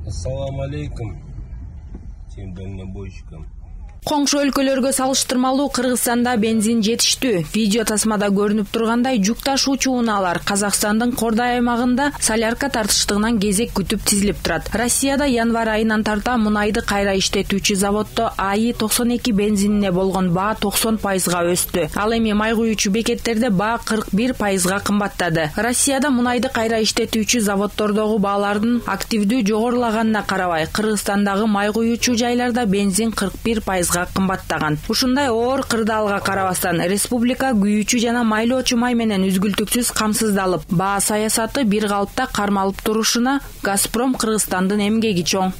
Ассаламу алейкум всем дальнобойщикам. Коңшу өлкөлөргө салыштырмалуу Кыргызстанда бензин жетиштүү. Видео тасмада көрүнүп тургандай жүк ташуучу унаалар Казакстандын Кордай аймагында солярка тартыштыгынан кезек күтүп тизилип турат. Россияда январь айынан тарта мунайды кайра иштетүүчү заводдо АИ 92 бензинине болгон баа 90%га өстү. Ал эми май куюучу бекеттерде баа 41%га кымбаттады. Россияда мунайды кайра иштетүүчү заводдордогу баалардын активдүү жогорулаганына карабай, Кыргызстандагы май куюучу жайларда бензин 41% кымбаттаган. Ушундай оор кырдаалга карабастан республика күйүүчү жана майлоочу май менен үзгүлтүксүз камсыздалып, баа саясаты бир калыпта кармалып турушуна Газпром Кыргызстандын эмгеги чоң.